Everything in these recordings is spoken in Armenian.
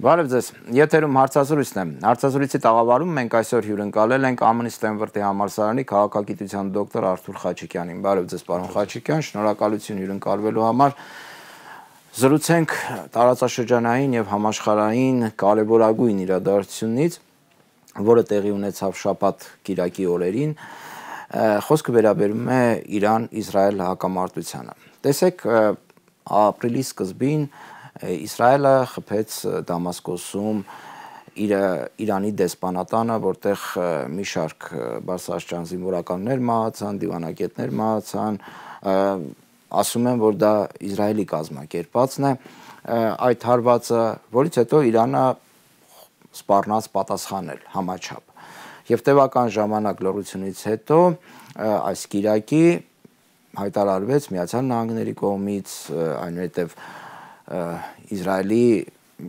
Բարև ձեզ, եթերում հարցազրույցն է։ Հարցազրույցի տաղավարում մենք այսօր հյուրընկալել ենք ԱՄՆ Ստենֆորդի համալսարանի քաղաքագիտության դոկտոր Արթուր Խաչիկյանին։ Բարև ձեզ, պարոն Խաչիկյան, շնորհակալություն հյուրընկալվելու համար։ Զրուցենք տարածաշրջանային եւ համաշխարհային կարևորագույն իրադարձությունից, որը տեղի ունեցավ շաբաթ կիրակի օրերին։ Խոսքը վերաբերում է Իրան-Իսրայել հակամարտությանը։ Տեսեք, ապրիլի սկզբին Իսրայելը խփեց Դամասկոսում Իրանի դեսպանատանը, որտեղ մի շարք բարձրաստիճան զինվորականներ մահացան, դիվանագետներ մահացան, ասում են, որ դա Իսրայելի կազմակերպածն է, այդ հարվածը, որից հետո Իրանը սպառնաց պատասխանել համաչափ։ Եվ տևական ժամանակ լռությունից հետո այս կիրակի հայտարարվեց Միացյալ Նահանգների կողմից, այնուհետև Իսրայելի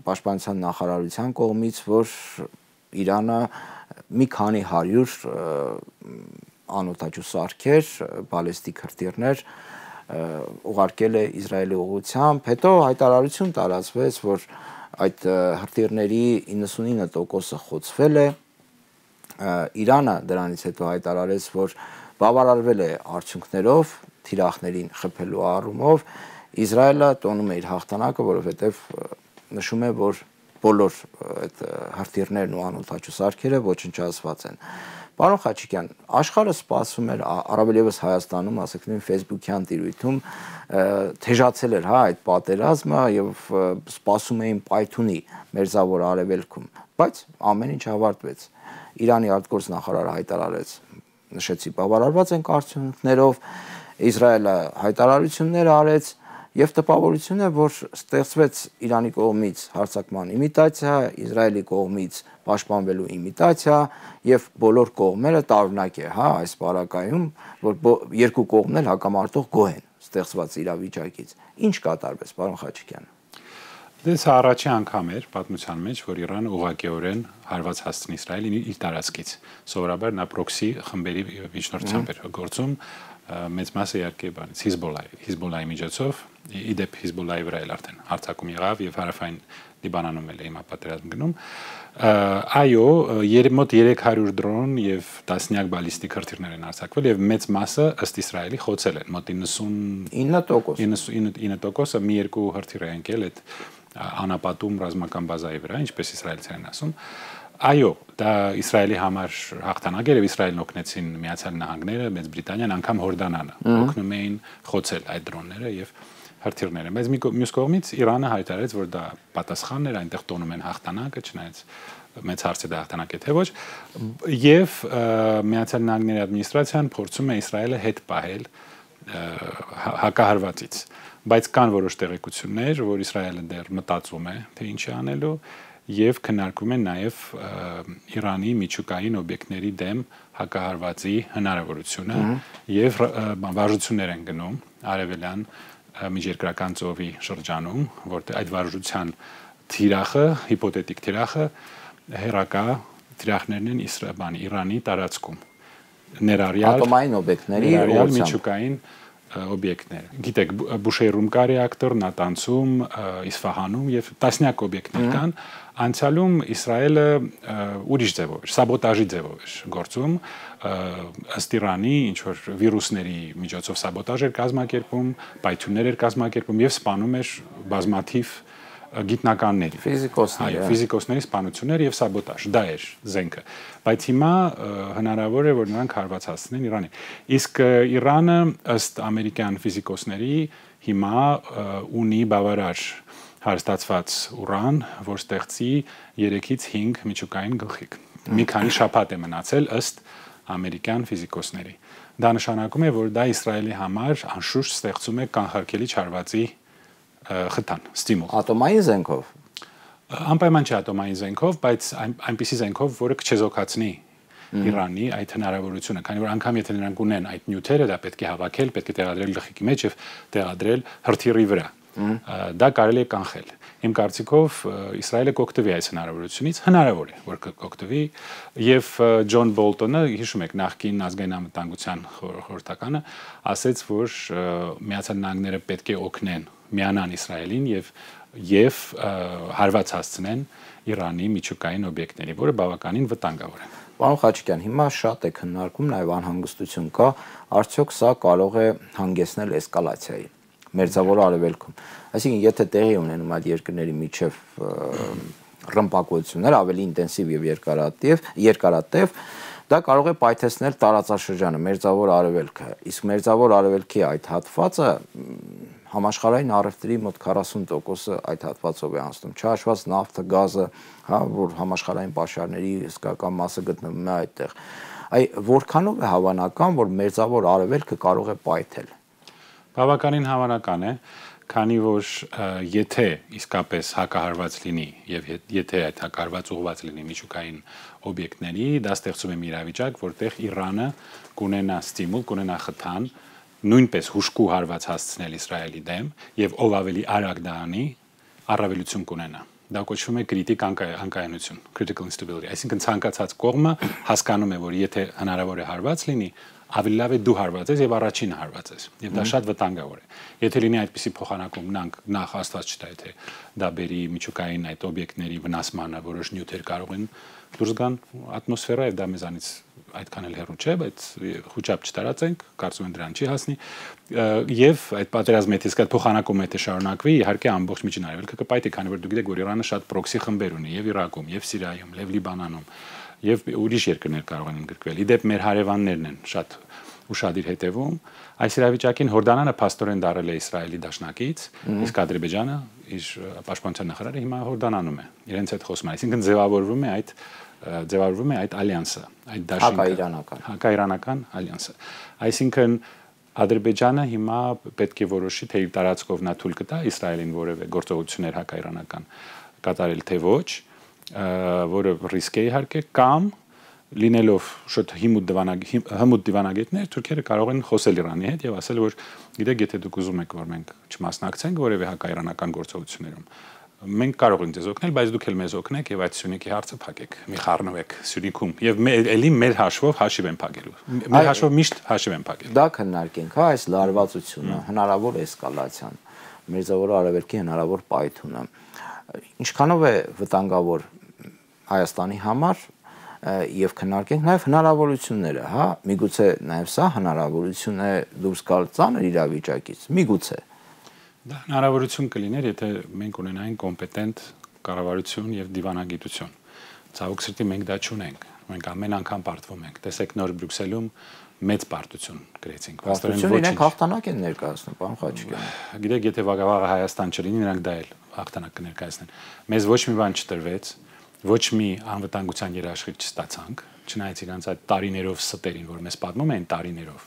պաշտպանության նախարարության կողմից, որ Իրանը մի քանի 100 անօդաչու սարքեր, բալեստիկ հրթիռներ ուղարկել է Իսրայելի ուղղությամբ, հետո հայտարարություն տարածվեց, որ այդ հրթիռների 99%-ը խոցվել է, Իրանը դրանից հետո հայտարարեց, որ բավարարվել է արդյունքներով, թիրախներին խփելու առումով, Իսրայելը տոնում է իր հաղթանակը, որովհետև նշում է, որ բոլոր այդ հրթիռներն ու անօդաչու սարքերը ոչնչացված են։ Պարոն Խաչիկյան, աշխարհը սպասում էր, առավել ևս Հայաստանում, ասենք նույն Facebook-յան տիրույթում թեժացել էր, այդ պատերազմը եւ սպասում էին պայթունի Մերձավոր Արևելքում, բայց ամեն ինչ ավարտվեց։ Իրանի արտգործնախարարը հայտարարեց, նշեցի, բավարարված ենք արդյունքներով, Իսրայելը հայտարարություններ արեց եւ տպավորություն է, որ ստեղծվեց Իրանի կողմից հարձակման իմիտացիա, Իսրայելի կողմից պաշտպանվելու իմիտացիա եւ բոլոր կողմերը տարօրինակ է, այս բարակայում, որ երկու կողմն էլ հակամարտող գոհ են ստեղծված իրավիճակից։ Ինչ կատարվեց, պարոն Խաչիկյան։ Դες առաջի անգամ էր պատմության մեջ, որ Իրանը ուղղակիորեն հարված հասցնի Իսրայելին իր տարածքից։ Սովորաբար նա պրոքսի խմբերի միջնորդությամբ էր գործում, մեծ մասը իհարկե բանից Հիզբոլլայի միջոցով, իդեպ Հիզբոլլայի վրա էլ արդեն հարձակում եղավ եւ հարավային Լիբանանում էլ հիմա պատերազմ գնում։ Այո, մոտ 300 դրոն եւ տասնյակ բալիստիկ հրթիռներ են արձակվել եւ մեծ մասը ըստ Իսրայելի խոցել են, մոտ 99%-ը մի երկու հրթիռ է ընկել այդ անապատում ռազմական բազայի վրա, ինչպես իսրայելցիներն ասում։ Այո, դա Իսրայելի համար հաղթանակ էր եւ Իսրայելն օգնեցին Միացյալ Նահանգները, Մեծ Բրիտանիան, անգամ Հորդանանը օգնում էին խոցել այդ դրոնները եւ հրթիռները։ Բայց մյուս կողմից Իրանը հայտարարեց, որ դա պատասխանն էր, այնտեղ տոնում են հաղթանակը, չնայած մեծ հարց է դա հաղթանակ է թե ոչ, եւ Միացյալ Նահանգների ադմինիստրացիան փորձում է Իսրայելը հետ պահել հակահարվածից։ Բայց կան որոշ տեղեկություններ, որ Իսրայելը դեռ մտածում է, թե ինչ է անելու եւ քննարկում են նաեւ Իրանի միջուկային օբյեկտների դեմ հակահարվածի հնարավորությունը եւ վարժություններ են գնում արևելյան միջերկրական ծովի շրջանում, որտեղ այդ վարժության թիրախը, հիպոթետիկ թիրախը հերակա թիրախներն են Իրանի տարածքում։ Ներառյալ ատոմային օբյեկտների միջուկային օբյեկտներ։ Գիտեք, Բուշեյրում կա ռեակտոր, Նատանցում, Իսֆահանում եւ տասնյակ օբյեկտներ կան։ Անցյալում Իսրայելը ուրիշ ձևով էր, սաբոտաժի ձևով էր գործում, ըստ Իրանի ինչ որ վիրուսների միջոցով սաբոտաժ էր կազմակերպում, պայթյուններ էր կազմակերպում եւ սպանում էր բազմաթիվ գիտնականների, ֆիզիկոսների սպանություններ եւ սաբոտաժ, դա էր զենքը։ Բայց հիմա հնարավոր է, որ նրանք հարված հասցնեն Իրանին։ Իսկ Իրանը ըստ ամերիկյան ֆիզիկոսների հիմա ունի բավարար հարստացված ուրան, որ ստեղծի 3-ից 5 միջուկային գլխիկ։ Մի քանի շաբաթ է մնացել ըստ ամերիկյան ֆիզիկոսների։ Դա նշանակում է, որ դա Իսրայելի համար անշուշտ ստեղծում է կանխարգելիչ հարվածի խթան, ստիմուլ։ Ատոմային զենքով։ Անպայման չէ ատոմային զենքով, բայց այնպիսի զենքով, որը կչեզոքացնի Իրանի այդ հնարավորությունը, քանի որ անգամ եթե նրանք ունեն այդ նյութերը, դա պետք է հավաքել, պետք է տեղադրել գլխիկի մեջ եւ տեղադրել հրթիռի վրա։ Դա կարելի է կանխել։ Իմ կարծիքով Իսրայելը կօգտվի այս հնարավորությունից, հնարավոր է, որ կօգտվի եւ Ջոն Բոլտոնը, հիշում եք, նախկին ազգային անվտանգության խորհրդականը, ասաց, որ Միացյալ Նահանգները պետք է օգնեն միանան Իսրայելին եւ եւ հարված հասցնեն Իրանի միջուկային օբյեկտների, որը բավականին վտանգավոր է։ Պարոն Խաչիկյան, հիմա շատ է քննարկում, նաև անհանգստություն կա, արդյոք սա կարող է հանգեցնել էսկալացիայի Մերձավոր Արևելքում։ Այսինքն, եթե տեղի ունենում այդ երկրների միջև ռմբակոծություններ ավելի ինտենսիվ եւ երկարատև, դա կարող է պայթեցնել տարածաշրջանը Մերձավոր Արևելքը։ Իսկ Մերձավոր Արևելքի այդ հատվածը համաշխարհային առևտրի մոտ 40%-ը այդ հատվածով է անցնում, չհաշված նավթը, գազը, հա, որ համաշխարհային պաշարների հսկական մասը գտնվում է այդտեղ։ Որքանով է հավանական, որ Մերձավոր Արևելքը կարող է պայթել։ Բավականին հավանական է, քանի որ եթե իսկապես հակահարված լինի եւ եթե այդ հակահարված ուղղված լինի միջուկային օբյեկտների, դա ստեղծում է մի իրավիճակ, որտեղ Իրանը կունենա ստիմուլ, կունենա խթան նույնպես հուշկու հարված հասցնել Իսրայելի դեմ եւ ով ավելի արագ դա անի, առավելություն կունենա։ Դա կոչվում է կրիտիկ անկայունություն, critical instability, այսինքն ցանկացած կողմը հասկանում է, որ եթե հնարավոր է հարված լինի, ավելի լավ է դու հարված ես եւ առաջինը հարված ես եւ դա շատ վտանգավոր է եթե լինի այդպիսի փոխանակում նախ Աստված չտա եթե դա բերի միջուկային այդ օբյեկտների վնասմանը որոշ նյութեր կարող են դուրս գան ատմոսֆերա եւ դա մեզանից այդքան էլ հեռու չէ բայց խոճապ չտարածենք կարծում եմ դրան չի հասնի եւ այդ պատերազմը եթե այդ փոխանակումը եթե շարունակվի իհարկե ամբողջ միջին արևելքը կպայթի քանի որ դուք գիտեք որ Իրանը շատ պրոքսի խմբեր ունի եւ Իրաքում եւ Սիրիայում եւ Լիբանանում եւ ուրիշ երկրներ կարող են ընդգրկվել։ Իդեպ մեր հարևաններն են շատ ուշադիր հետևում։ Այս իրավիճակին Հորդանանը փաստորեն դարել է Իսրայելի դաշնակից, իսկ Ադրբեջանը իր պաշտպանության նախարարը հիմա Հորդանանում է։ Իրենց հետ խոսում է, այսինքն ձևավորվում է այդ ալյանսը, այդ դաշինքը, հակաիրանական ալյանսը։ Այսինքն Ադրբեջանը հիմա պետք է որոշի թե իր տարածքով նա թույլ կտա Իսրայելին որևէ գործողություններ հակաիրանական կատարել թե ոչ, որը ռիսկ է իհարկե կամ լինելով շուտ հմուտ դիվանագետներ թուրքերը կարող են խոսել Իրանի հետ եւ ասել որ գիտեք եթե դուք ուզում եք որ մենք չմասնակցենք որևէ հակաիրանական գործողություններում մենք կարող ենք ձեզ օգնել բայց դուք էլ մեզ օգնեք եւ այդ Սյունիքի հարցը փակեք մի խառնվեք Սյունիքում եւ էլի մեր հաշվով հաշիվ են փակելու մեր հաշվով միշտ հաշիվ են փակելու դա քննարկենք հա այս լարվածությունը հնարավոր էսկալացիան Մերձավոր Արևելքի հնարավոր պայթյունը ինչքանով է վտանգավոր Հայաստանի համար եւ քննարկենք նաեւ հնարավորությունները, հա, միգուցե նաեւ սա հնարավորություն է դուրս գալ ծանր իրավիճակից, միգուցե դա հնարավորություն կլիներ, եթե մենք ունենայինք կոմպետենտ կառավարություն եւ դիվանագիտություն։ Ցավոք սրտի մենք դա չունենք։ Մենք ամեն անգամ պարտվում ենք։ Տեսեք նոր Բրյուսելում մեծ պարտություն գրեցինք։ Պարտություն իրենք հաղթանակ են ներկայացնում, պարոն Խաչիկյան։ Գիտեք, եթե վաղը Հայաստան չլինի, նրանք դա էլ հաղթանակ կներկայացնեն։ Մեզ ոչ մի բան չտրվեց, ոչ մի անվտանգության երաշխիք չստացանք, չնայած իրանց այդ տարիներով ստերին, որ մեզ պատմում էին տարիներով։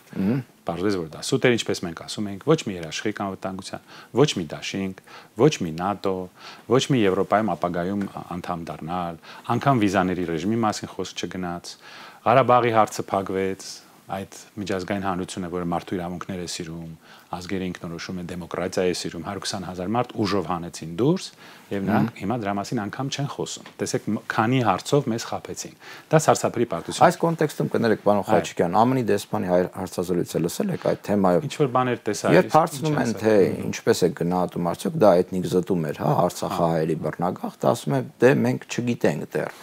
Պարզվեց, որ դա սուտ էր, ինչպես մենք ասում ենք, ոչ մի երաշխիք անվտանգության, ոչ մի դաշինք, ոչ մի ՆԱՏՕ, ոչ մի Եվրոպայում ապագայում անդամ դառնալ, անգամ վիզաների ռեժիմի մասին խոսք չգնաց, Ղարաբաղի հարցը փակվեց, այդ միջազգային հանրությունը, որը մարդու իրավունքներ է սիրում, ազգերի ինքնորոշում է, դեմոկրատիա է սիրում, 120,000 մարդ ուժով հանեցին դուրս, եւ նրանք հիմա դրա մասին անգամ չեն խոսում։ Տեսեք, քանի հարցով մեզ խաբեցին։ Դա սարսափելի պարտություն։ Այս կոնտեքստում կներեք, պարոն Խաչիկյան, ԱՄՆ-ի դեսպանի հարցազրույցը լսել եք այդ թեմայով։ Ինչ որ բաներ տեսա։ Երբ հարցնում են, թե ինչպես է գնահատում, արդյոք դա էթնիկ զտում էր, հա, Արցախահայերի բռնագաղթ, ասում է, դե մենք չգիտենք դեռ։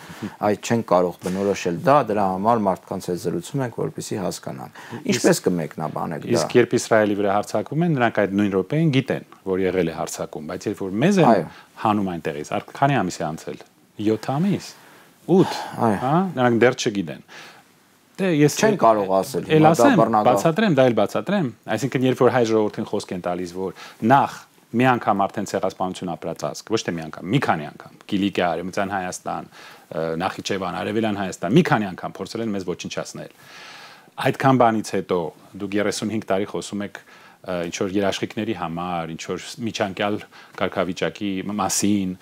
Այդ չեն կարող բնորոշել դա, դրա համար մարդկանց հետ զրուցում ենք, որպեսզի հասկանանք։ Ինչպես կմեկնաբանեք դա։ Իսկ երբ Իսրայելի վրա հարձակվում են, նրանք այդ նույն րոպեին գիտեն, որ եղել է հարձակում, բայց երբ որ մեզ են հանում այնտեղից, քանի ամիս է անցել։ 7 ամիս, 8, հա, նրանք դեռ չգիտեն։ Դե ես չեն կարող ասել։ Էլ ասեմ, բացատրեմ, դա էլ բացատրեմ, այսինքն երբ որ հայ ժողովրդին խոսք են տալիս, որ նախ մի անգամ արդեն ցեղասպանություն ապրած ազգ, ոչ թե մի անգամ, մի քանի անգամ, Կիլիկիա, Արևմտյան Հայաստան, Նախիջևան, Արևելյան Հայաստան, մի քանի անգամ փորձել են մեզ ոչնչացնել։ Այդքան բանից հետո դուք 35 տարի խոսում եք ինչ որ երաշխիքների համար, ինչ որ միջանկյալ կարգավիճակի մասին,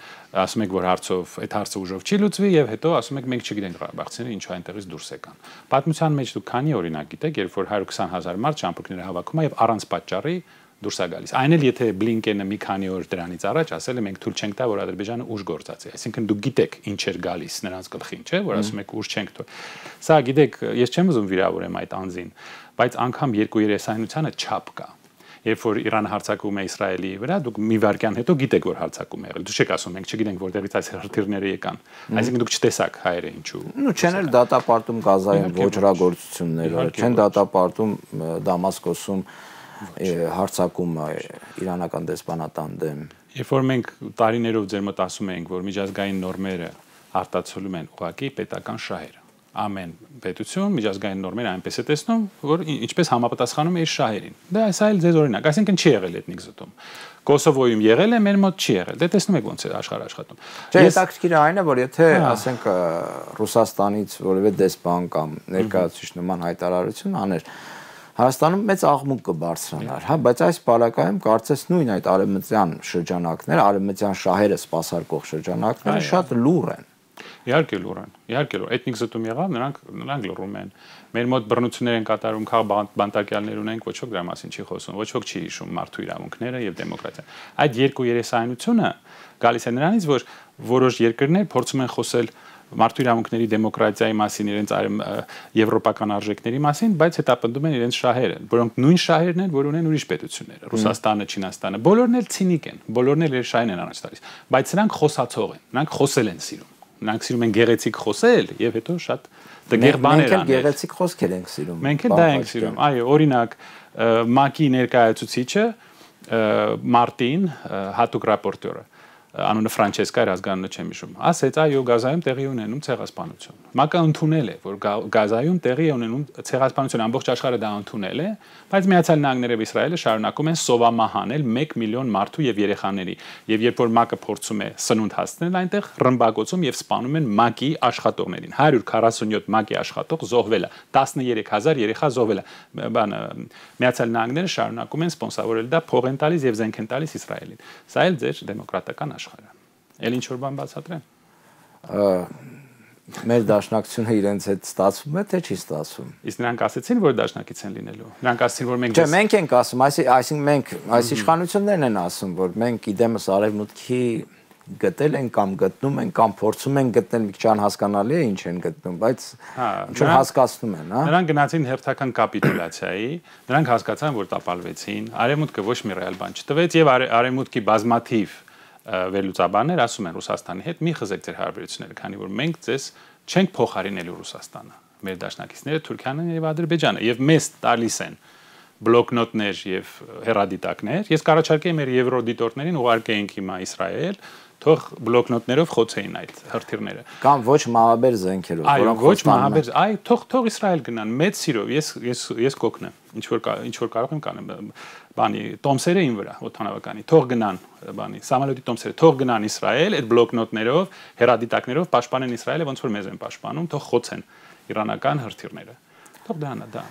ասում եք որ հարցով այդ հարցը ուժով չի լուծվի եւ հետո ասում եք մենք չգիտենք ղարաբաղցիները ինչու այնտեղից դուրս եկան։ Պատմության մեջ դուք քանի օրինակ գիտեք, երբ որ 120,000 մարդ ճամփորդները հավաքում է եւ առանց պատճառի դուրս է գալիս։ Այն էլ եթե Բլինկենը մի քանի օր դրանից առաջ ասել է մենք թույլ չենք տա որ Ադրբեջանը ուժ գործածի, այսինքն դուք գիտեք ինչ էր գալիս նրանց գլխին, չէ՞, որ ասում եք ուժ չենք թույլ։ Սա գիտեք, ես չեմ ուզում վիրավորեմ այդ անձին, բայց անգամ երկու երեսայնությանը չափ կա։ երբ որ Իրանը հարձակվում է Իսրայելի վրա, դուք մի վայրկյան հետո գիտեք, որ հարձակում է եղել։ Դուք չեք ասում, մենք չգիտենք որտեղից այս հրթիռները եկան։ Այսինքն դուք չտեսաք հայերը ինչու։ Ну չեն էլ դատապարտում Գազայում ոչռագործությունները, չեն դատապարտում Դամասկոսում հարձակումը իրանական դեսպանատան դեմ։ Երբ որ մենք տարիներով ձեր մոտ ասում ենք, որ միջազգային նորմերը արտացոլում են ուղղակի պետական շահերը, ամեն պետություն միջազգային նորմերը այնպես է տեսնում, որ ինչպես համապատասխանում է իր շահերին։ Դա այսա էլ ձեզ օրինակ, այսինքն չի եղել էթնիկ զտում։ Կոսովոյում եղել է, մեր մոտ չի եղել։ Դե տեսնում եք ոնց է աշխարհը աշխատում։ Հետաքրքիրը այն է, որ եթե ասենք Ռուսաստանից որևէ դեսպան կամ ներկայացուցիչ նման հայտարարություն աներ, Հայաստանում մեծ աղմուկ կբարձրանար, հա, բայց այս բալակայում կարծես նույն այդ արևմտյան շրջանակները, արևմտյան շահերը սպասարկող շրջանակները շատ լուռ են։ Իհարկե լուռ են, իհարկե լուռ։ Էթնիկ զտում եղավ, նրանք լուռում են։ Մեր մոտ բռնություններ են կատարում, քաղաքբանտարկյալներ ունենք, ոչ ոք դրա մասին չի խոսում, ոչ ոք չի հիշում մարդու իրավունքները եւ դեմոկրատիան։ Այդ երկու երեսայնությունը գալիս է նրանից, որ որոշ երկրներ փորձում են խոսել մարդու իրավունքների դեմոկրատիայի մասին, իրենց եվրոպական արժեքների մասին, բայց հետապնդում են իրենց շահերը, որոնք նույն շահերն են, որ ունեն ուրիշ պետությունները, Ռուսաստանը, Չինաստանը, բոլորն էլ ցինիկ են, բոլորն էլ իր շահին են առաջ տալիս, բայց նրանք խոսացող են, նրանք խոսել են սիրում, նրանք սիրում են գեղեցիկ խոսել եւ հետո շատ տգեղ բաներ անել։ Մենք էլ գեղեցիկ խոսքեր ենք սիրում։ Մենք էլ դա ենք սիրում։ Այո, օրինակ ՄԱԿ-ի ներկայացուցիչը Մարտին, հատուկ ռապորտյորը անունը Ֆրանչեսկա էր, ազգանունը չեմ հիշում, ասեց այո Գազայում տեղի ունենում ցեղասպանություն։ ՄԱԿ-ը ընդունել է, որ Գազայում տեղի ունենում ցեղասպանություն, ամբողջ աշխարհը դա ընդունել է, բայց Միացյալ Նահանգները եւ Իսրայելը շարունակում են սովամահանել 1 միլիոն մարդու եւ երեխաների։ Եվ երբ որ ՄԱԿ-ը փորձում է սնունդ հասցնել այնտեղ, ռմբակոծում եւ սպանում են ՄԱԿ-ի աշխատողներին։ 147 ՄԱԿ-ի աշխատող զոհվել է, 13000 երեխա զոհվել է։ Բանը Միացյալ Նահանգները շարունակում են սպոնսորել դա, փող են տալիս եւ զենք են տալիս Իսրայելին։ Սա էլ ձեր դեմոկրատական Էլ ինչ որ բան բացատրեմ։ Մեր դաշնակցությունը իրենց հետ ստացվում է, թե չի ստացվում։ Իսկ նրանք ասեցին, որ դաշնակից են լինելու։ Նրանք ասեցին, որ մենք Չէ, մենք ենք ասում, այսինքն մենք այս իշխանություններն են ասում, որ մենք իդեմս արևմուտքի գտել են կամ գտնում են կամ փորձում են գտնել, մի քիչ անհասկանալի է ինչ են գտնում, բայց ինչ որ հասկացնում են, հա։ Նրանք գնացին հերթական կապիտուլյացիայի, նրանք հասկացան, որ տապալվեցին, արևմուտքը ոչ մի ռեալ բան չտվեց եւ արևմուտքի բազմաթիվ վերլուծաբաններ ասում են Ռուսաստանի հետ մի խզեք ձեր հարաբերությունները, քանի որ մենք ձեզ չենք փոխարինելու Ռուսաստանը, մեր դաշնակիցները Թուրքիան եւ Ադրբեջանը եւ մեզ տալիս են բլոկնոտներ եւ հեռադիտակներ։ Ես կառաջարկեի մեր եվրոդիտորներին ուղարկեինք հիմա Իսրայել, թող բլոկնոտներով խոցեին այդ հրթիռները կամ ոչ մահաբեր զենքերով, որոնք ոչ մահաբեր, այ թող Իսրայել գնան մեծ սիրով, ես կօգնեմ, ինչ որ կարող եմ կանեմ, բանի տոմսերը ին վրա, օդանավականի, թող գնան, բանի սամալյոտի տոմսերը, թող գնան Իսրայել, այդ բլոկնոտներով, հեռադիտակներով պաշտպանեն Իսրայելը, ոնց որ մեզ են պաշտպանում, թող խոցեն իրանական հրթիռները։ Թող դա։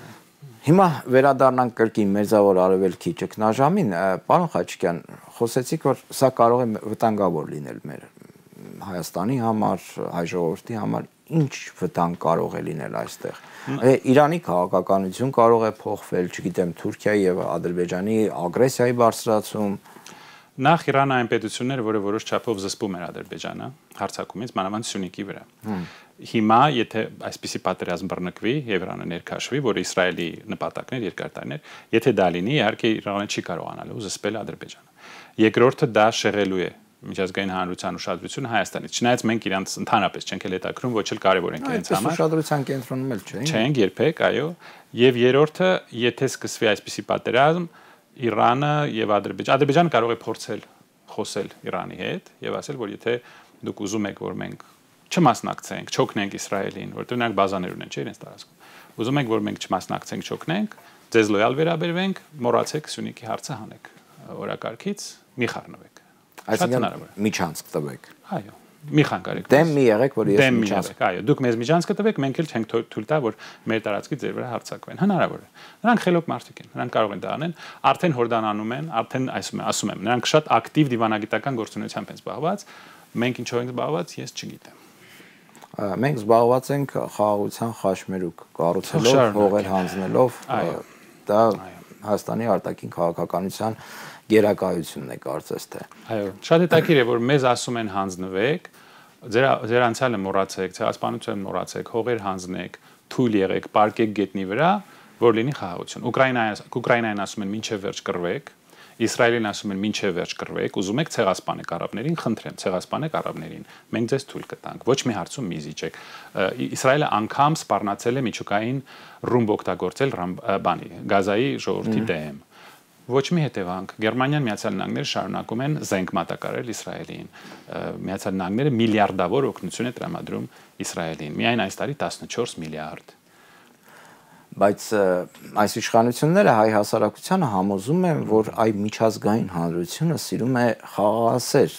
Հիմա վերադառնանք կրկին Մերձավոր Արևելքի ճգնաժամին, պարոն Խաչիկյան, խոսեցիք, որ սա կարող է վտանգավոր լինել մեր Հայաստանի համար, հայ ժողովրդի համար, ինչ վտանգ կարող է լինել այստեղ։ Իրանի քաղաքականություն կարող է փոխվել, չգիտեմ, Թուրքիայի եւ Ադրբեջանի ագրեսիայի բարձրացում։ Նախ Իրանը այն պետությունն էր, որը որոշ չափով զսպում էր Ադրբեջանը հարձակումից, մանավանդ Սյունիքի վրա։ Հիմա, եթե այսպիսի պատերազմ բռնկվի եւ Իրանը ներքաշվի, որը Իսրայելի նպատակն էր երկար տարիներ, եթե դա լինի, իհարկե Իրանը չի կարողանալու զսպել Ադրբեջանը։ Երկրորդը դա շեղելու է միջազգային հանրության ուշադրությունը Հայաստանից։ Չնայած մենք իրանց ընդհանրապես չենք էլ հետաքրում, ոչ էլ կարևոր ենք իրենց համար։ Ուշադրության կենտրոնում էլ չենք։ Չենք երբեք, այո։ Եվ երրորդը, եթե սկսվի այսպիսի պատերազմ, Իրանը եւ Ադրբեջանը կարող է փորձել խոսել Իրանի հետ եւ ասել, որ եթե դուք ուզում եք, որ մենք չմասնակցենք, չօգնենք Իսրայելին, որտեղ նրանք բազաներ ունեն, չէ՞ իրենց տարածքում։ Ուզում ենք, որ մենք չմասնակցենք, չօգնենք, ձեզ լոյալ վերաբերվենք, մոռացեք Սյունիքի հարցը հանեք օրակարգից, մի խառնվեք։ Այսինքն միջանցք տվեք։ Այո, մի խանգարեք։ Դեմ մի եղեք, որ ես միջանցք։ Այո, դուք մեզ միջանցք տվեք, մենք էլ չենք թույլ տա, որ մեր տարածքի ձեր վրա հարձակվեն։ Հնարավոր է։ Նրանք խելոք մարդիկ են, նրանք կարող են դա անեն, արդեն հորդանանում են, արդեն ասում եմ, նրանք շատ ակտիվ դիվանագիտական գործունեությամբ են զբաղված, մենք ինչով ենք զբաղված, ես չգիտեմ։ Մենք զբաղված ենք խաղաղության խաչմերուկ կառուցելով, հողեր հանձնելով, դա Հայաստանի արտաքին քաղաքականության գերակայությունն է կարծես թե։ Այո, շատ հետաքրքիր է, որ մեզ ասում են հանձնվեք, ձեր անցյալը մոռացեք, ցեղասպանությունը մոռացեք, հողեր հանձնեք, թույլ եղեք, պարկեք գետնի վրա, որ լինի խաղաղություն։ Ուկրաինային ասում են մինչև վերջ կռվեք, Իսրայելին ասում են մինչև վերջ կռվեք, ուզում եք ցեղասպանեք արաբներին, խնդրեմ, ցեղասպանեք արաբներին։ Մենք ձեզ թույլ կտանք։ Ոչ մի հարցում մի զիջեք։ Իսրայելը անգամ սպառնացել է միջուկային ռումբ օգտագործել Գազայի ժողովրդի դեմ։ Ոչ մի հետևանք։ Գերմանիան, Միացյալ Նահանգները շարունակում են զենք մատակարարել Իսրայելին։ Միացյալ Նահանգները միլիարդավոր օգնություն է տրամադրում Իսրայելին։ Միայն այս տարի 14 միլիարդ։ Բայց այս իշխանությունները հայ հասարակությանը համոզում են, որ այ միջազգային հանրությունը սիրում է խաղաղասեր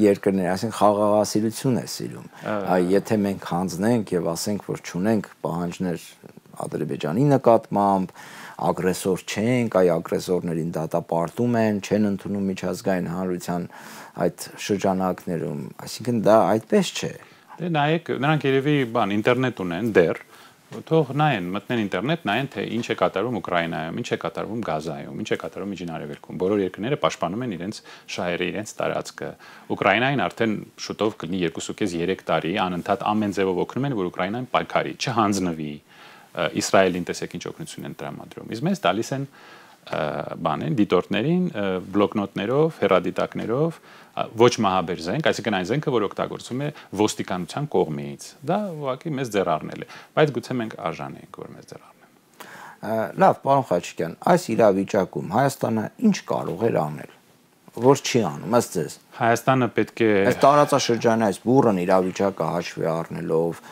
երկրներ, այսինքն խաղաղասիրություն է սիրում։ Եթե մենք հանձնենք եւ ասենք, որ չունենք պահանջներ Ադրբեջանի նկատմամբ, ագրեսոր չենք, այ ագրեսորներին դատապարտում են, չեն ընդունում միջազգային հանրության այդ շրջանակներում, այսինքն դա այդպես չէ։ Դե նայեք, նրանք երևի ինտերնետ ունեն դեռ, թող նայեն, մտնեն ինտերնետ, նայեն թե ինչ է կատարվում Ուկրաինայում, ինչ է կատարվում Գազայում, ինչ է կատարվում Միջին Արևելքում։ Բոլոր երկրները պաշտպանում են իրենց շահերը, իրենց տարածքը։ Ուկրաինային արդեն շուտով կլինի 2.5-3 տարի անընդհատ ամեն ձևով օգնում են, որ Ուկրաինան պայքարի, չհանձնվի։ Իսրայելին տեսեք ինչ օգնություն են տրամադրում։ Իսկ մեզ տալիս են դիտորդներին բլոկնոտներով, հեռադիտակներով, ոչ մահաբեր զենք, այսինքն այն զենքը, որ օգտագործվում է ոստիկանության կողմից։ Դա ուղղակի մեզ ձեռ առնել է, բայց գուցե մենք արժան ենք, որ մեզ ձեռ առնեն։ Լավ, պարոն Խաչիկյան, այս իրավիճակում Հայաստանը ինչ կարող էր անել, որ չի անում, ըստ ձեզ։ Հայաստանը պետք է այս տարածաշրջանի այս բուռն իրավիճակը հաշվի առնելով,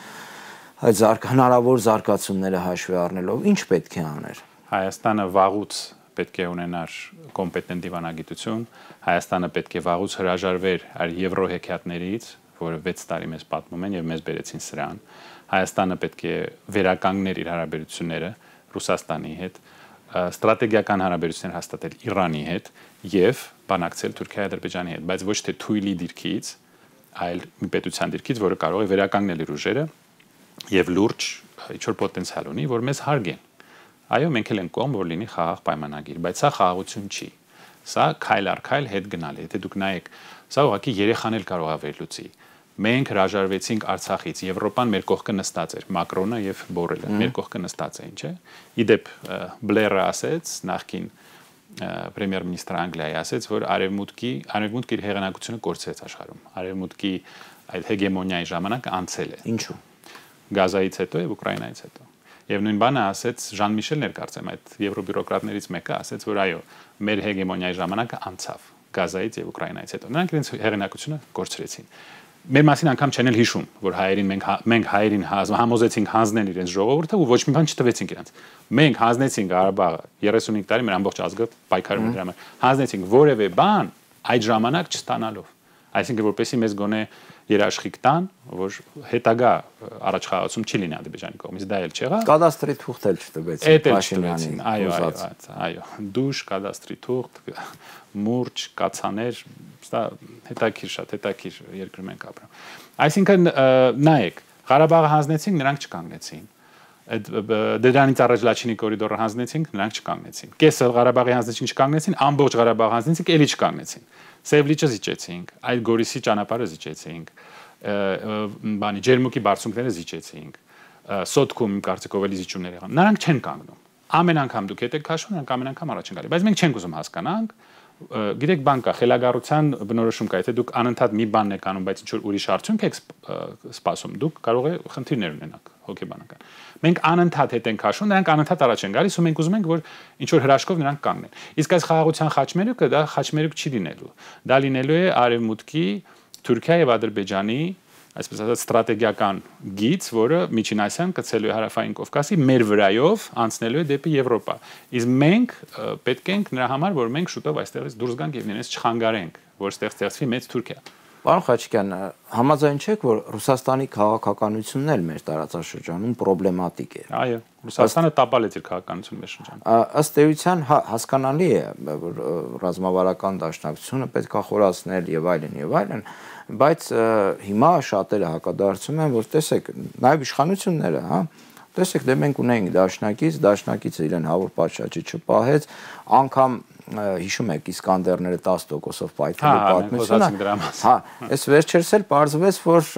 այդ հնարավոր զարգացումները հաշվի առնելով, ինչ պետք է աներ։ Հայաստանը վաղուց պետք է ունենար կոմպետենտ դիվանագիտություն, Հայաստանը պետք է վաղուց հրաժարվեր այդ եվրոհեքիաթներից, որը 6 տարի մեզ պատմում են եւ մեզ բերեցին սրան։ Հայաստանը պետք է վերականգներ իր հարաբերությունները Ռուսաստանի հետ, ստրատեգիական հարաբերություններ հաստատել Իրանի հետ եւ բանակցել Թուրքիայի Ադրբեջանի հետ, բայց ոչ թե թույլի դիրքից, այլ մի պետության դիրքից, որը կարող է վերականգնել իր ուժերը եւ լուրջ ինչ-որ պոտենցիալ ունի, որ մեզ հարգեն։ Այո, մենք էլ ենք կողմ, որ լինի խաղաղ պայմանագիր, բայց սա խաղաղություն չի։ Սա քայլ առ քայլ հետ գնալ է։ Եթե դուք նայեք, սա ուղղակի երեխան էլ կարող է վերլուծի։ Մենք հրաժարվեցինք Արցախից, Եվրոպան մեր կողքը նստած էր, Մակրոնը եւ Բորելը մեր կողքը նստած էին, չէ՞։ Իդեպ Բլերը ասեց, նախկին պրեմիեր-մինիստրը Անգլիայի ասեց, որ արևմուտքը իր հեղինակությունը կորցրեց աշխարհում։ Արևմուտքի այդ հեգեմոնիայի ժամանակը անցել է։ Ինչու՞։ Գազայից հետո եւ Ուկրաինայից հետո։ Եվ նույն բանը ասեց Ժան Միշելն էր կարծեմ այդ եվրոբյուրոկրատներից մեկը ասեց, որ այո, մեր հեգեմոնիայի ժամանակը անցավ Գազայից եւ Ուկրաինայից հետո։ Նրանք իրենց հեղինակությունը կորցրեցին։ Մեր մասին անգամ չեն էլ հիշում, որ հայերին մենք հայերին համոզեցինք հանձնել իրենց ժողովուրդը ու ոչ մի բան չտվեցինք իրենց։ Մենք հանձնեցինք Ղարաբաղը 35 տարի մեր ամբողջ ազգը պայքարում էր դրա համար։ Հանձնեցինք որևէ բան այդ ժամանակ չստանալով։ Այսինքն որպեսի մեզ գոնե երաշխիք տան, որ հետագա առաջխաղացում չի լինի Ադրբեջանի կողմից, դա էլ չեղավ։ Կադաստրի թուղթ էլ չտվեցին Փաշինյանին։ Այո, դուշ, կադաստրի թուղթ, մուրճ, կացաներ, դա հետաքրիր, շատ հետաքրիր երկրում ենք ապրում։ Այսինքն նայեք, Ղարաբաղը հանձնեցինք, նրանք չկանգնեցին։ Այդ դրանից առաջ Լաչինի կորիդորը հանձնեցինք, նրանք չկանգնեցին։ Կեսը Ղարաբաղի հանձնեցին, չկանգնեցին, ամբողջ Ղարաբաղը հանձնեցինք, էլի չկանգնեցին։ Սևլիճը զիջեցինք, այդ Գորիսի ճանապարհը զիջեցինք, Ջերմուկի բարձունքները զիջեցինք, Սոտքում կարծիքով էլի զիջումներ եղան։ Նրանք չեն կանգնում։ Ամեն անգամ դուք հետ եք քաշում, նրանք ամեն անգամ առաջ են գալի, բայց մենք չենք ուզում հասկանանք։ Գիտեք, բան կա, խելագարության բնորոշում կա, եթե դուք անընդհատ մի բանն եք անում, բայց ինչ որ ուրիշ արդյունք եք սպասում, դուք կարող եք խնդիրներ ունենալ հոգեբանական։ Մենք անընդհատ հետ ենք քաշում, նրանք անընդհատ առաջ են գալիս ու մենք ուզում ենք, որ ինչ որ հրաշքով նրանք կանգնեն։ Իսկ այս խաղաղության խաչմերուկը դա խաչմերուկ չի լինելու։ Դա լինելու է Արևմուտքի, Թուրքիայի եւ Ադրբեջանի այսպես ասած ստրատեգիական գիծ, որը Միջին Ասիան կցելու է Հարավային Կովկասի մեր վրայով անցնելու է դեպի Եվրոպա։ Իսկ մենք պետք ենք նրա համար, որ մենք շուտով այստեղից դուրս գանք եւ իրենց չխանգարենք, որ ստեղ ստեղծվի մեծ Թուրքիա։ Պարոն Խաչիկյան, համաձայն չեք, որ Ռուսաստանի քաղաքականությունն էլ մեր տարածաշրջանում պրոբլեմատիկ է։ Այո, Ռուսաստանը տապալեց իր քաղաքականությունը մեր շրջանում։ Ըստ էության հասկանալի է, որ ռազմավարական դաշնակցությունը պետք է խորացնել եւ այլն, բայց հիմա շատերը հակադարձում են, որ տեսեք, նաեւ իշխանությունները, Տեսեք, դե մենք ունենք դաշնակիցը իրեն հավուր պատշաճի չպահեց, անգամ հիշում եք Իսկանդերները 10%-ով պայթելու պատմությունը։ Հա, այս վերջերս էլ պարզվեց, որ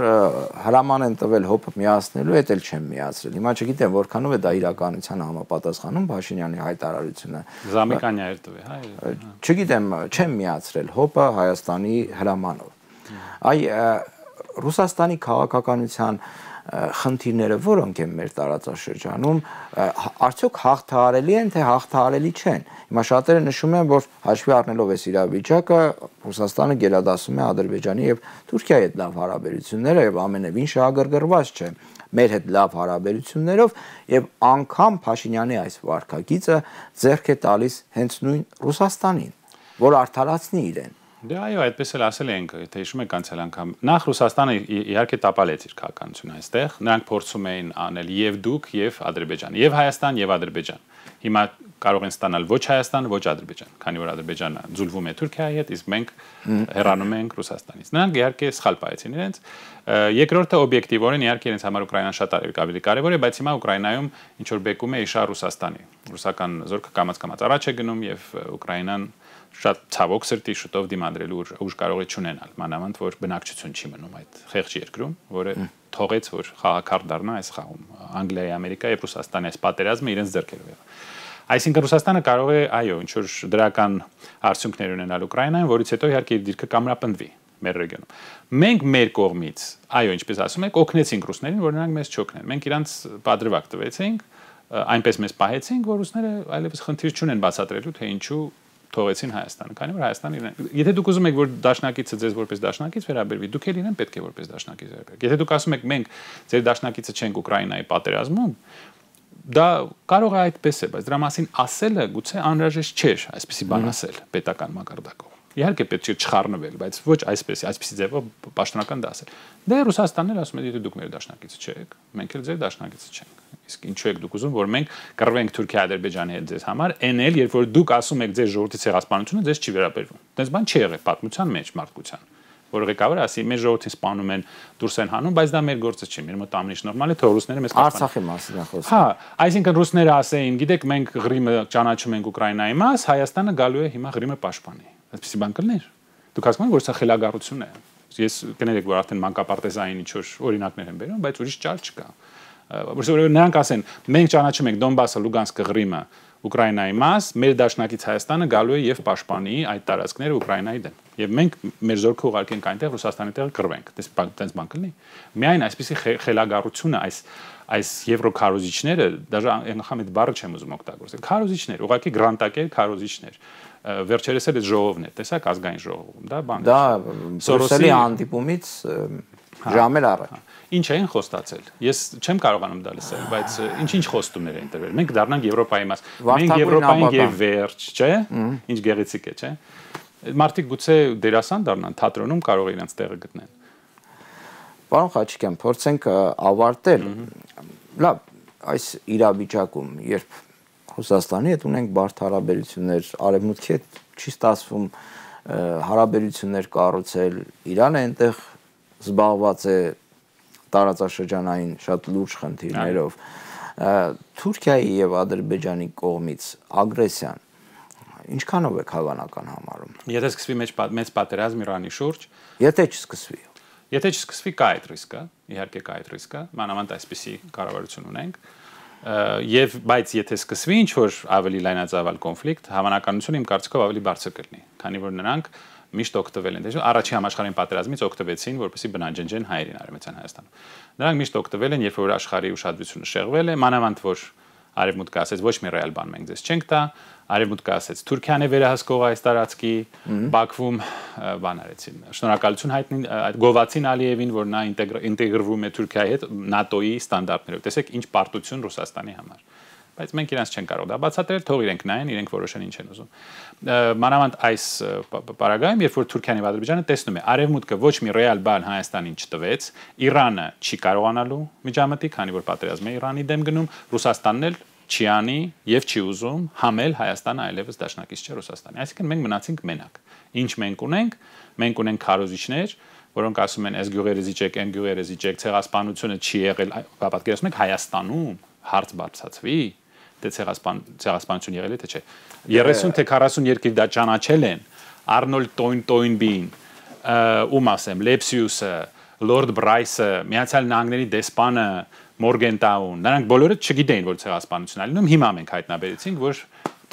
հրաման են տվել հոպը միացնելու, էդ էլ չեմ միացրել։ Հիմա չգիտեմ որքանով է դա իրականությանը համապատասխանում Փաշինյանի հայտարարությունը։ Զամիկանյա էր տվել, հա։ Չգիտեմ, չեմ միացրել հոպը Հայաստանի հրամանով։ Այ Ռուսաստանի քաղաքականության խնդիրները որոնք են մեր տարածաշրջանում, արդյոք հաղթահարելի են, թե հաղթահարելի չեն։ Հիմա շատերը նշում են, որ հաշվի առնելով այս իրավիճակը, Ռուսաստանը գերադասում է Ադրբեջանի եւ Թուրքիայի հետ լավ հարաբերությունները եւ ամենևին շահագրգռված չէ մեր հետ լավ հարաբերություններով եւ անգամ Փաշինյանի այս վարկագիծը ձեռք է տալիս հենց նույն Ռուսաստանին, որ արդարացնի իրեն։ Դե այո, այդպես էլ ասել ենք, թե հիշում եք անցյալ անգամ։ Նախ Ռուսաստանը իհարկե տապալեց իր քաղաքականությունը այստեղ, նրանք փորձում էին անել եւ դուք, եւ Ադրբեջան, եւ Հայաստան, եւ Ադրբեջան։ Հիմա կարող են ստանալ ոչ Հայաստան, ոչ Ադրբեջան, քանի որ Ադրբեջանը ձուլվում է Թուրքիայի հետ, իսկ մենք հեռանում ենք Ռուսաստանից։ Նրանք իհարկե սխալ պահեցին իրենց։ Երկրորդը օբյեկտիվորեն իհարկե իրենց համար Ուկրաինան շատ ավելի կարևոր է, բայց հիմա Ուկրաինայում ինչ որ բեկում է իշա Ռուսաստանի։ Ռուսական զորքը կամաց-կամաց առաջ է գնում եւ Ուկրաինան շատ ցավոք սրտի շուտով դիմադրելու ուժ կարող է չունենալ, մանավանդ որ բնակչություն չի մնում այդ խեղճ երկրում, որը թողեց որ խաղակարդ դառնա այս խաղում Անգլիայի, Ամերիկայի եւ Ռուսաստանի այս պատերազմը իրենց ձեռքերով եղավ։ Այսինքն Ռուսաստանը կարող է, այո, ինչ որ դրական արդյունքներ ունենալ Ուկրաինայում, որից հետո իհարկե իր դիրքը կամրապնդվի մեր ռեգիոնում։ Մենք մեր կողմից, այո, ինչպես ասում եք, օգնեցինք ռուսներին, որ նրանք մեզ չօգնեն։ Մենք իրանց պատրվակ տվեցինք, այնպես մեզ պահեցինք, որ ռուսները այլևս խնդիր չունեն բացատրելու, թե ինչու թողեցին Հայաստանը, քանի որ Հայաստանը իրեն։ Եթե դուք ուզում եք որ դաշնակիցը ձեզ որպես դաշնակից վերաբերվի, դուք էլ իրեն պետք է որպես դաշնակից վերաբերեք։ Եթե դուք ասում եք մենք ձեր դաշնակիցը չենք Ուկրաինայի պատերազմում, դա կարող է այդպես է, բայց դրա մասին ասելը գուցե անհրաժեշտ չէ, այսպեսի բան ասել պետական մակարդակով։ Իհարկե պետք է չխառնվել, բայց ոչ այսպեսի ձևով պաշտոնական դա ասել։ Դե Ռուսաստանն էլ ասում է, եթե դուք մեր դաշնակիցը չեք, մենք էլ ձեր դաշնակիցը չենք։ Իսկ ինչու եք դուք ուզում, որ մենք կռվենք Թուրքիա-Ադրբեջանի հետ ձեզ համար, էնել, երբ որ դուք ասում եք ձեր ժողովրդի ցեղասպանությունը ձեզ չի վերաբերվում։ Դες բան չի եղել պատմության մեջ մարդկության։ Որ ղեկավարը ասի, մեր ժողովրդին սպանում են, դուրս են հանում, բայց դա մեր գործը չի, մեր մոտ ամենից նորմալ է, թե ռուսները մեզ կասպանեն։ Արցախի մասին է խոսքը։ Հա, այսինքն ռուսները ասեին, գիտեք, մենք Ղրիմը ճանաչում ենք Ուկրաինայի մաս, Հայաստանը գալու է հիմա Ղրիմը պաշտպանի։ Այսպեսի բան կլներ։ Դուք հասկանում եք, որ սա խելագարություն է։ Ես կներեք, որ արդեն մանկապարտեզային ինչ-որ օրինակներ են բերում, բայց ուրիշ ճար չկա։ Որովհետեւ նրանք ասեն, մենք ճանաչում ենք Դոնբասը, Լուգանսկը, Ղրիմը, Ուկրաինայի մաս, մեր դաշնակից Հայաստանը գալու է եւ պաշտպանի այդ տարածքները Ուկրաինայի դեմ։ Եւ մենք մեր զորքը ուղարկենք այնտեղ Ռուսաստանի տեղ կռվենք։ Դες բան կլինի։ Միայն այսպեսի խելագարությունը այս եվրոքարոզիչները, դաժե անգամ այդ բառը չեմ ուզում օգտագործել։ Քարոզիչներ, ուղղակի գրանտակեր քարոզիչներ։ Վերջերս էլ այդ ժողովն է, տեսակ ազգային ժողովում, դա բան է։ Դա Սորոսի հանդիպումից ժամեր առաջ։ Ինչ էին խոստացել։ Ես չեմ կարողանում դա լսել, բայց ինչ խոստումներ էին տրվել։ Մենք դառնանք Եվրոպայի մաս։ Մենք Եվրոպային եւ վերջ, չէ՞։ Ինչ գեղեցիկ է, չէ՞։ Մարդիկ գուցե դերասան դառնան, թատրոնում կարող են իրենց տեղը գտնեն։ Պարոն Խաչիկյան, փորձենք ավարտել։ Լավ, այս իրավիճակում, երբ Ռուսաստանի հետ ունենք բարդ հարաբերություններ, Արևմուտքի հետ չի ստացվում հարաբերություններ կառուցել, Իրանը այնտեղ զբաղված է տարածաշրջանային շատ լուրջ խնդիրներով։ Թուրքիայի եւ Ադրբեջանի կողմից ագրեսիան ինչքանով է հավանական համարում։ Եթե սկսվի մեծ պատերազմ Իրանի շուրջ, եթե չսկսվի։ Եթե չսկսվի կա այդ ռիսկը, իհարկե կա այդ ռիսկը, մանավանդ այսպիսի կառավարություն ունենք, բայց եթե սկսվի ինչ-որ ավելի լայնածավալ կոնֆլիկտ, հավանականությունը իմ կարծիքով ավելի բարձր կլինի, քանի որ նրանք միշտ օգտվել են, առաջին համաշխարհային պատերազմից օգտվեցին, որպեսզի բնաջնջեն հայերին Արևմտյան Հայաստանում։ Նրանք միշտ օգտվել են, երբ որ աշխարհի ուշադրությունը շեղվել է, մանավանդ որ Արևմուտքը ասեց ոչ մի ռեալ բան մենք ձեզ չենք տա, Արևմուտքը ասեց Թուրքիան է վերահսկող այս տարածքի, Բաքվում բան արեցին։ Շնորհակալություն հայտնի այդ Գովացին Ալիևին, որ նա ինտեգրվում է Թուրքիայի հետ ՆԱՏՕ-ի ստանդարտներով։ Տեսեք ինչ պարտություն Ռուսաստանի համար։ Բայց մենք իրանց չեն կարող դա բացատրել, թող իրենք նայեն, իրենք որոշեն ինչ են ուզում։ Մանավանդ այս պարագայում, երբ որ Թուրքիան եւ Ադրբեջանը տեսնում է, Արևմուտքը ոչ մի ռեալ բան Հայաստանին չտվեց, Իրանը չի կարողանալու միջամտի, քանի որ պատերազմ է Իրանի դեմ գնում, Ռուսաստանն էլ չի անի եւ չի ուզում համել Հայաստանը այլևս դաշնակից չէ Ռուսաստանի։ Այսինքն մենք մնացինք մենակ։ Ինչ մենք ունենք քարոզիչներ, որոնք ասում են այս գյուղերը զիջեք, այն գյուղերը զիջեք, ցեղասպանությունը չի եղել, պատկերացնում եք Հայաստանում հարց բարձրացվի, թե ցեղասպանություն եղել է թե չէ։ 30 թե 40 երկիր դա ճանաչել են, Arnold Toynbee-ին, ում ասեմ, Lepsius-ը, Lord Bryce-ը, Միացյալ Նահանգների դեսպանը, Morgenthau-ն, նրանք բոլորը չգիտեին, որ ցեղասպանություն է լինում, հիմա մենք հայտնաբերեցինք, որ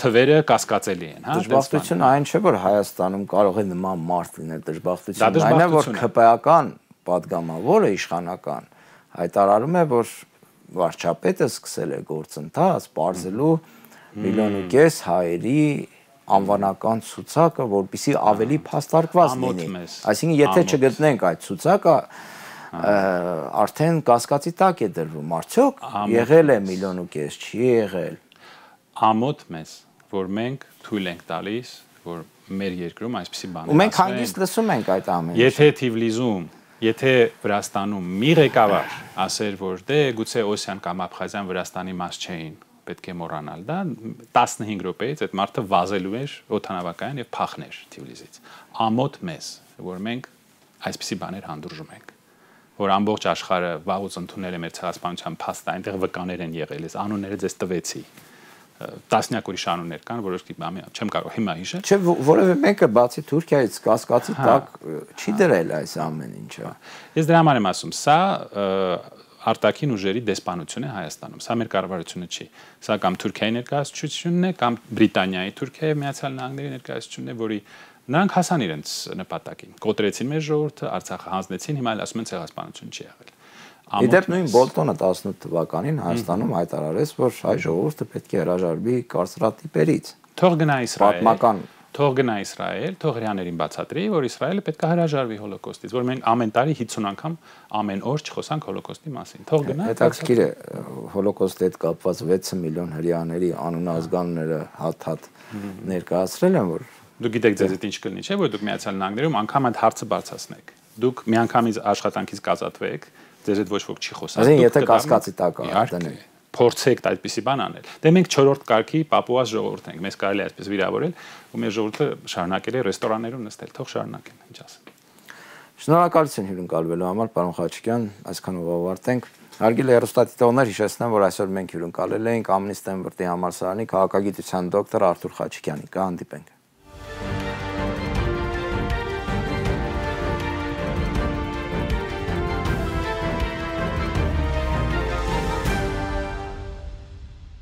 թվերը կասկածելի են, հա։ Դժբախտությունը այն չէ, որ Հայաստանում կարող է նման մարդ լինել, դժբախտությունը այն է, որ ՔՊԱ-կան падգամավորը իշխանական հայտարարում է, որ վարչապետը սկսել է գործընթաց բարձելու 1.5 միլիոն հայերի անվանական ցուցակը, որպեսզի ավելի փաստարկված լինի։ Այսինքն, եթե չգտնենք այդ ցուցակը, արդեն կասկածի տակ է դրվում, արդյոք եղել է 1.5 միլիոն, չի եղել։ Ամոթ մեզ, որ մենք թույլ ենք տալիս, որ մեր երկրում այսպիսի բաներ ասվեն։ Ու մենք հանգիստ լսում ենք այդ ամենը։ Եթե Թիֆլիսում, եթե Վրաստանում մի ղեկավար ասեր, որ դե գուցե Օսիան կամ Աբխազիան Վրաստանի մաս չէին, պետք է մոռանալ դա, 15 րոպեից այդ մարդը վազելու էր օդանավակայան եւ փախներ Թիֆլիսից։ Ամոթ մեզ, որ մենք այսպիսի բաներ հանդուրժում ենք, որ ամբողջ աշխարհը վաղուց ընդունել է մեր ցեղասպանության փաստը, այնտեղ վկաներ են եղել, այս անունները ձեզ տվեցի։ Տասնյակ ուրիշ անուններ կան, որոշ չեմ կարող հիմա հիշել։ Չէ, որևէ մեկը բացի Թուրքիայից կասկածի տակ չի դրել այս ամեն ինչը։ Ես դրա համար եմ ասում, սա արտաքին ուժերի դեսպանություն է Հայաստանում։ Սա մեր կառավարությունը չի։ Սա կամ Թուրքիայի ներկայացությունն է, կամ Բրիտանիայի, Թուրքիայի, Միացյալ Նահանգների ներկայացությունն է, որի նրանք հասան իրենց նպատակին։ Կոտրեցին մեր ժողովուրդը, Արցախը հանձնեցին, հիմա էլ ասում են ցեղասպանություն չի եղել։ Իդեպ նույն Բոլտոնը 18 թվականին Հայաստանում հայտարարեց, որ հայ ժողովուրդը պետք է հրաժարվի կարծրատիպերից։ Թող գնա Իսրայել։ Պատմական Թող գնա Իսրայել, թող հрьяաներին բացատրի, որ Իսրայելը պետք է հրաժարվի հոլոկոստից, որ մենք ամեն տարի 50 անգամ ամեն օր չխոսանք հոլոկոստի մասին։ Թող գնա։ Հետաքրքիր է, հոլոկոստի հետ կապված 6 միլիոն հрьяաների անունազգանները հատ ներկայացրել են, որ դուք գիտեք ձեզ այդ ինչ կլինի, չէ՞, որ դուք Միացյալ Նահանգներում անգամ այդ հարցը բարձրացնեք։ Դուք միանգամից աշխատանքից կազատվեք, ձեզ հետ ոչ ոք չի խոսա։ Այսինքն, եթե կասկածի տակ դնենք, փորձեք այդպիսի բան անել։ Դե մենք 4-րդ կարգի Պապուաս ժողովուրդ ենք, մեզ կարելի է այսպես վիրավորել, ու մեր ժողովուրդը շարունակել է ռեստորաններում նստել, թող շարունակեն, ինչ ասեմ։ Շնորհակալություն հյուրընկալվելու համար, պարոն Խաչիկյան, այսքանով ավարտենք։ Հարգելի հեռուստադիտողներ, հիշեցնեմ, որ այսօր մենք հյուրընկալել էինք Ամնիստի Վրտի համալսարանի քաղաքագիտության դոկտոր Արթուր Խաչիկյանին։ Կհանդիպենք։